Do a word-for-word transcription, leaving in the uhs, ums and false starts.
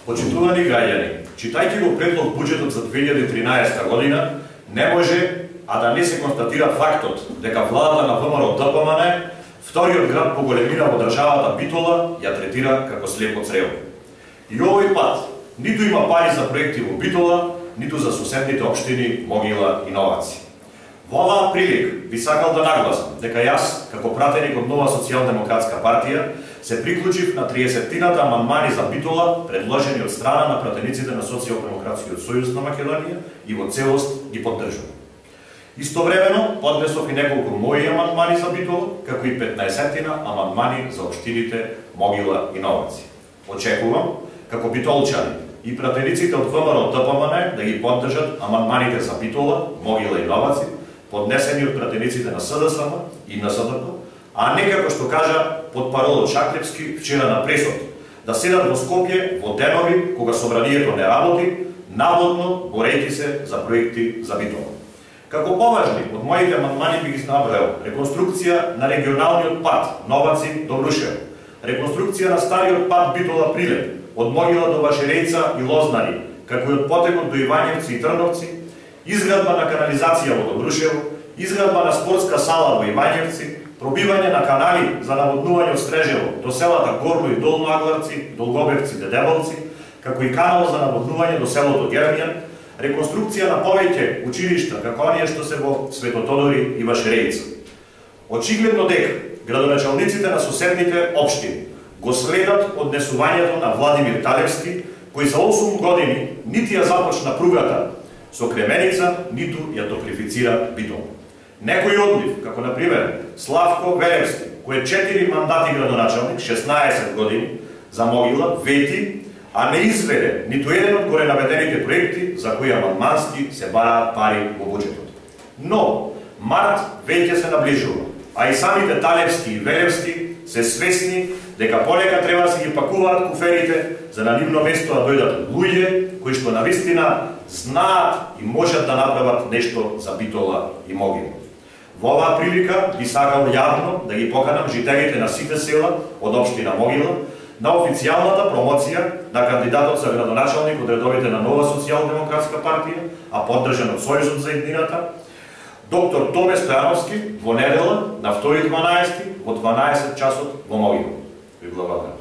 Почитувани граѓани, читајќи го предлог буџетот за две илјади и тринаесетта година, не може а да не се констатира фактот дека владата на ВМРО Д П М Н, вториот град по големина во државата Битола, ја третира како слепо црево. И овој пат ниту има пари за проекти во Битола, ниту за соседните општини Могила и Новаци. Во оваа прилика би сакал да нагласам дека јас, како пратеник од Нова социјалдемократска партија, се приклучив на триесеттината амандмани за Битола, предложени од страна на пратениците на Социјалдемократскиот сојуз на Македонија и во целост ги поддржувам. Истовремено поднесов и неколку мои амандмани за Битола, како и петнаесеттина амандмани за општините Могила и Новаци. Очекувам, како битолчани и пратениците од ВМРО Д П М Н да ги поддржат амандманите за Битола, Могила и Новаци, поднесени од пратениците на С Д С М и на С Д П, а не како што кажа потпаролот Шаклевски вчера на пресот, да седат во Скопје во денови кога собранието не работи, наводно борејќи се за проекти за Битола. Како поважни од моите амандмани би ги набројал реконструкција на регионалниот пат Новаци до Брушево, реконструкција на стариот пат Битола Прилеп, од Могила до Вашерејца и Лознари, како и од потекот до Ивањевци и Трновци, изградба на канализација во Добрушево, изградба на спортска сала во Ивањевци, пробивање на канали за наводнување од Стрежево до селата Горно и Долно Агларци, Долгобевци, Дедебалци, како и канал за наводнување до селото Гермијан, реконструкција на повеќе училишта, како оние што се во Светотодори и Вашерејца. Очигледно дека градоначалниците на соседните општини го следат однесувањето на Владимир Талевски, кој за осум години нити ја започна пругата со Кременица, ниту ја топрифицира Битола. Некои од нив, како например Славко Велевски, кој е четири мандати градоначалник, шеснаесет години, за Могила, вети, а не изведе ниту еден од горе наведените проекти за кои амандмански се бараат пари во буџетот. Но март веќе се наближува, а и самите Талевски и Велевски се свесни дека полека треба да се ги пакуваат куферите за на нивно место да дојдат луѓе кои што навистина знаат и можат да направат нешто за Битола и Могила. Во оваа прилика би сакал јавно да ги поканам жителите на сите села од општина Могила на официјалната промоција на кандидатот за градоначалник од редовите на Нова социјалдемократска партија, а поддржан од Сојузот за иднината, доктор Томе Стојановски во недела на втори дванаесети во дванаесет часот во Могила. Ви благодарам.